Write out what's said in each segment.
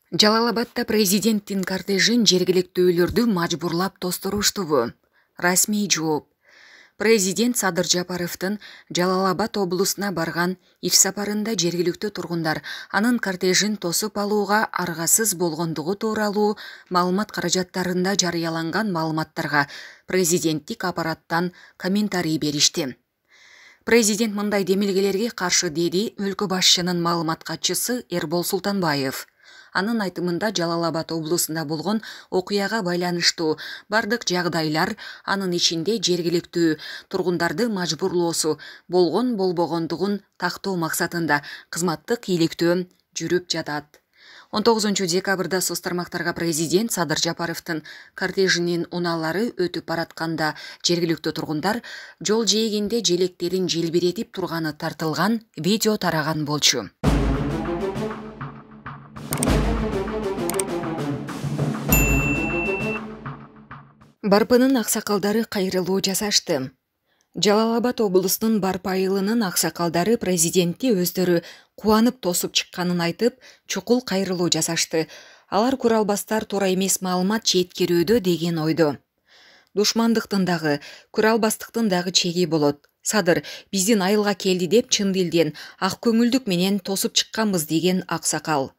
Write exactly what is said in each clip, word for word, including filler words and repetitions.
Жалал-Абадда президенттин кортежин жергиликтүүлөрдү мажбурлап тосторуштубу? Расмий жооп. Президент Садыр Жапаровдун Жалал-Абад облусуна барган иш сапарында жергиликтүү тургундар анын кортежин тосуп алууга аргасыз болгондугу тууралуу маалымат каражаттарында жарыяланган маалыматтарга президенттик аппараттан комментарий беришти. Президент мындай демилгелерге каршы деди өлкө башчынын маалымат катчысы Эрбол Султанбаев. Анын айтымында Жалал-Абад облусунда болгон окуяга байланыштуу бардык жагдайлар, анын ичинде жергиликтүү тургундарды мажбурлоосу болгон болбогондугун тактоо максатында кызматтык ийгиликтөө жүрүп жатат. он тогузунчу декабрда соц тармактарга президент Садыр Жапаровдун кортежинин унаалары өтүп баратканда жергиликтүү тургундар жол жээгинде желектерин желбиретип турганы тартылган видео тараган болчу. Барпынын аксакалдары кайрылуу жасашты. Жалал-Абад облусунун Барпы айылынын аксакалдары президентти өздөрү кубанып тосуп чыкканын айтып, чукул кайрылуу жасашты. Алар куралбастар туура эмес маалымат жеткирүүдө деген ойдо. Душмандыктын дагы, куралбастыктын дагы чеги болот. Садыр биздин айылга келди деп чын дилден ак көңүлдүк менен тосуп чыкканбыз деген аксакал.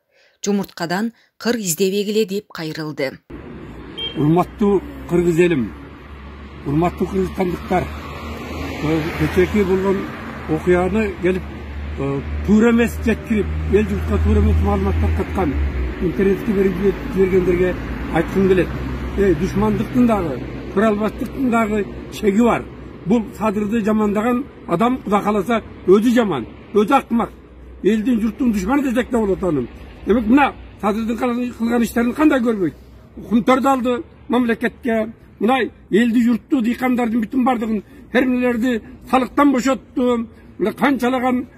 Жумурткадан кыр издебегиле деп кайрылды. Урматтуу кыргыз элим, урматтуу кыргызстандыктар, кечээки болгон окуяны келип туура эмес жеткирип, эл журтка туура эмес маалымат таркаткан интернетке берип жибергендерге айткым келет. Эй, душмандыктын дагы, куралбастыктын дагы чеги бар. Бул Садырды жамандаган адам Кудай кааласа өзү жаман, өзү акмак. Элдин журттун душманы десек да болот аны. Демек мына Садырдын кылган иштерин кандай көрбөйт? Укумдарды алды мамлекетке, мынай элди журтту дыйкандардын бүтүн бардыгын фермерлерди салыктан бошотту, мына канчалаган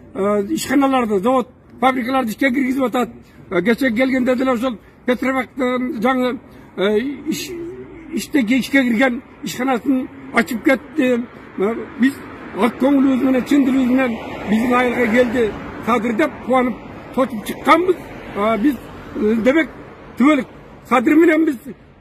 ишканаларды, завод, фабрикаларды ишке киргизип атат. Кече келгенде деле ошол Петробактын жаңы иште ишке кирген ишканасын ачып кетти. Биз ак көңүлүбүз менен, чын дилибиз менен биздин айылга келди Садыр деп кубанып тосуп чыкканбыз. Биз демек түбөлүк Садыр менен биз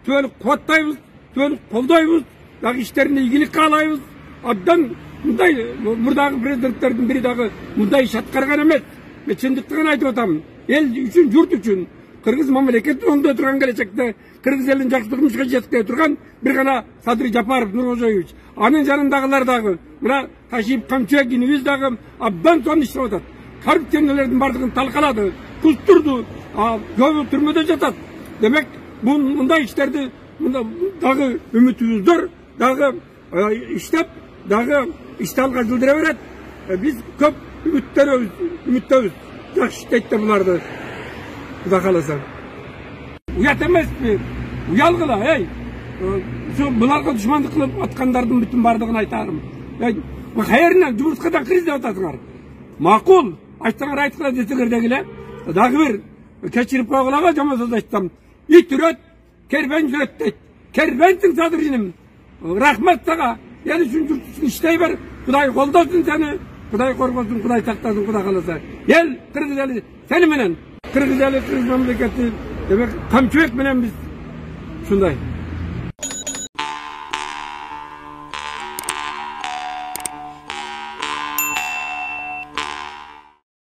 түбөлүк кубаттайбыз, түбөлүк колдойбуз, дагы иштерине ийгилик каалайбыз. Абдан мындай мурдагы президенттердин бири дагы мындай иш аткарган эмес. Мен чындыкты гана айтып атам. Эл үчүн, журт үчүн, кыргыз мамлекетин оңдой турган келечекте кыргыз элин жакшылык мушка жеткире турган бир гана Садыр Жапаров Нуркожоевич. Анын жанындагылар дагы мына Ташип Камчуэгинибиз дагы абдан сонун иштеп атат. Коррупционерлердин бардыгын талкалады, кустурду, көбү түрмөдө жатат. Демек бул мындай иштерди дагы үмүтүбүз зор, дагы иштеп, дагы ишти алга жылдыра берет. Биз көп үмүттөрүбүз, үмүттөбүз. Жакшы иштейт да буларды. Кудай кааласа. Уят эмеспи? Уялгыла, эй. Ушу буларга душмандык кылып аткандардын бүтүн бардыгын айтарым. Эй, кайеринен жумурткадан кыр издеп атасыңар. Макул, айтсаңар айткыла десеңер дегиле. Дагы бир кечирип койгула, жаман сөз айтсам. Ит үрөт, кербен жүрөт дейт. Кербенсиң Садыр иним. Рахмат сага. Ел үчүн журт үчүн иштей бер. Кудай колдосун сени. Кудай коргосун, Кудай сактасын, Кудай кааласа. Ел кыргыз эли сени менен. Кыргыз эли, кыргыз мамлекети, демек Камчуэк менен биз ушундай.